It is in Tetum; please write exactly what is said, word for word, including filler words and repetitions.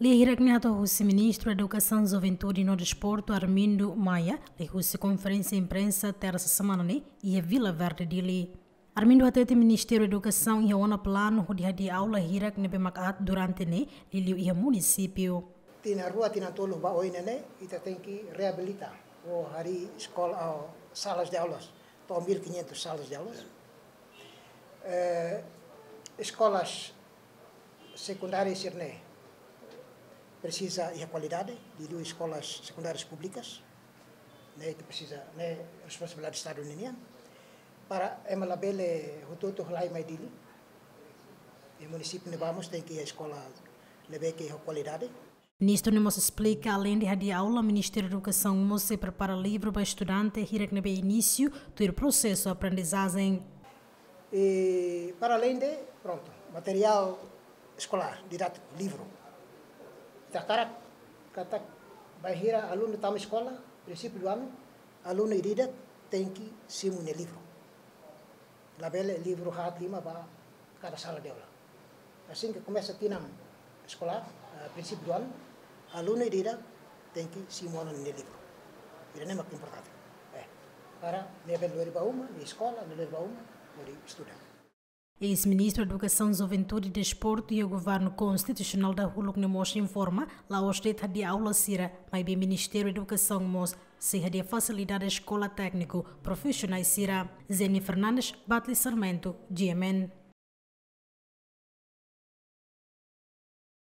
Lia hirak ne'e hato'o husi Ministru Edukasaun, Juventude no Desportu, Armindo Maia, liuhusi konferénsia imprensa tersa semana ne'e iha Vila Verde, Dili. Armindo hateten Ministériu Edukasaun iha ona planu hodi hadi'a aula hirak ne'ebé mak aat durante ne'e, liuliu iha munisípiu. Tinan rua, tinan tolu ba oin ne'e, ita tenke reabilita ou harii eskola, ou salas de aulas, to'o mil e quinhentas salas de aulas. Eh, eskolas sekundárias sira-ne'e presiza iha kualidade, liuliu eskolas sekundárias públikas, ne'e ita presiza, ne'e responsabilidade Estadu ninian, para ema labele hotu-hotu halai mai Dili. I munisípiu ne'ebá mós tenke iha eskola ne'ebé ke iha kualidade. Ministru ne'e mós esplika, aleinde hadi'a aula, Ministériu Edukasaun mós sei prepara livru ba estudante hirak ne'ebé inísiu tuir prosesu aprendizajen. E para além de, pronto, material escolar, didático, livro. Ita hakarak katak bainhira alunu tama eskola, princípio do ano, alunu ida-idak tenke simu nia livru. Labele livru haat lima ba kada sala de aula. Assim que começa tinan escolar, eh, princípio do ano, alunu ida-idak tenke simu ona nia livru. Ida-ne'e mak importante. Eh, para nia bele lori ba uma, nia eskola, nia lori ba uma, hodi estuda. Eis-Ministru Edukasaun, Juventude, Desportu iha Governu Konstitusionál dahuluk ne'e mós informa, la'ós de'it hadi'a aula sira, maibé Ministériu Edukasaun mós sei hadi'a fasilidade eskola tékniku profisionál sira. Jenny Fernandes, Batli Sarmento, G M N.